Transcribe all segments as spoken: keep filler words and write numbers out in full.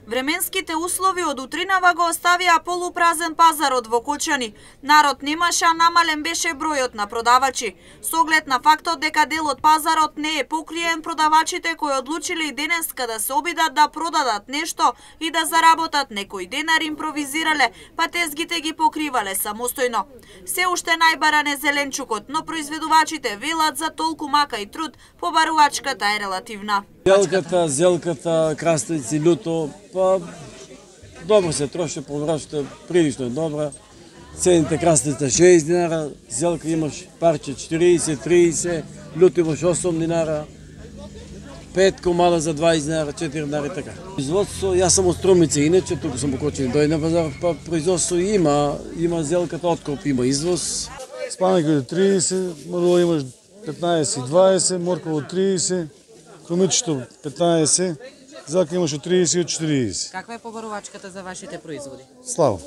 Временските услови од утринава го оставија полупразен пазарот во Кочани. Народ немаше, а намален беше бројот на продавачи. Со оглед на фактот дека дел од пазарот не е покриен, продавачите кои одлучиле и денеска да се обидат да продадат нешто и да заработат некој денар импровизирале, па тезгите ги покривале самостојно. Се уште најбаран е зеленчукот, но произведувачите велат за толку мака и труд, побарувачката е релативна. Зелката, зелката, краставици, луто, па добро се троши, површта прилично добра. Цените краставица шест динара, зелка имаш парче четириесет, триесет, луто имаш осум динара, пет комада за дваесет динара, четири динара и така. Производство, јас сам од Струмица, иначе туку сум покочен дој на пазар, па производство има, има зелката откоп, има извоз. Спанаки од триесет, морково имаш петнаесет и дваесет, морково триесет, крумичето петнаесет, зелка имаш од триесет и од четириесет. Каква е побарувачката за вашите производи? Слабо.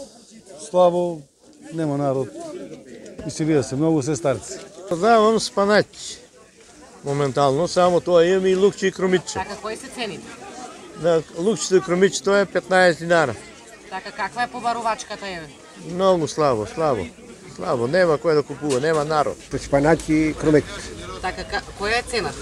Слабо, нема народ. Иселија се многу, се старци. Продавам спанач моментално, само тоа имам и лукче и крумиче. Така, кои се цените? На лукчето и крумичето е петнаесет динара. Така, каква е побарувачката еве? Многу слабо, слабо. Слабо, нема кој да купува, нема народ. Спанач и крумит. Така, која е цената?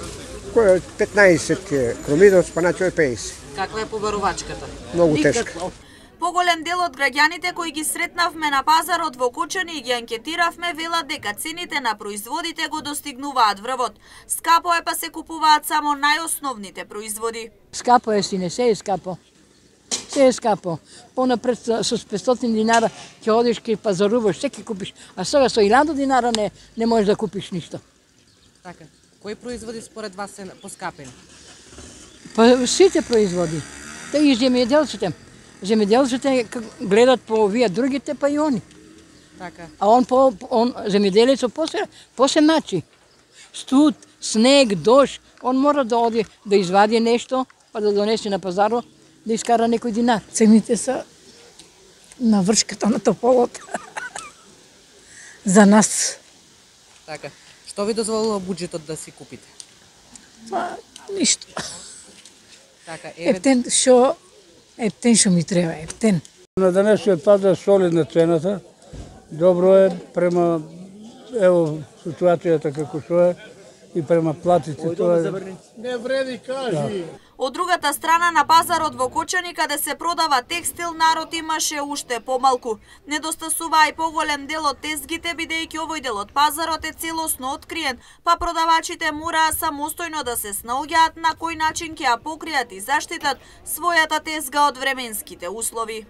Кој е петнаесет крумидот, спаначо е пеесет. Каква е побарувачката? Многу тешка. Поголем дел од граѓаните кои ги сретнавме на пазарот во Кочани и ги анкетиравме велат дека цените на производите го достигнуваат врвот. Скапо е, па се купуваат само најосновните производи. Скапо е, сине, се е скапо. Се е скапо. Понапред со петстотини динара ќе одиш, ќе пазаруваш, се ќе купиш. А сега со илјада динара не, не можеш да купиш ништо. Така, кои производи според вас се поскапени? Па сите производи. Те и земјоделците. Земјоделците гледат по овие другите, па и они. Така. А он по он земјоделецот после после начи. Студ, снег, дожд, он мора да оди да извади нешто, па да донесе на пазарот, да искара некој динар. Цените се на вршката на тополот. За нас. Така. Што ви дозволува буџетот да си купите? Па, ништо. Така, еве... Ептен шо, ептен шо ми треба, ептен. На денешниот пазар солидна цената. Добро е према, ево, ситуацијата како што е и према платите. Тоа е... Не вреди, кажи. Од другата страна на пазарот во Кочани, каде се продава текстил, народ имаше уште помалку. Недостасува и поголем дел од тезгите, бидејќи овој дел од пазарот е целосно откриен, па продавачите мораа самостојно да се снаоѓаат на кој начин ќе ја покријат и заштитат својата тезга од временските услови.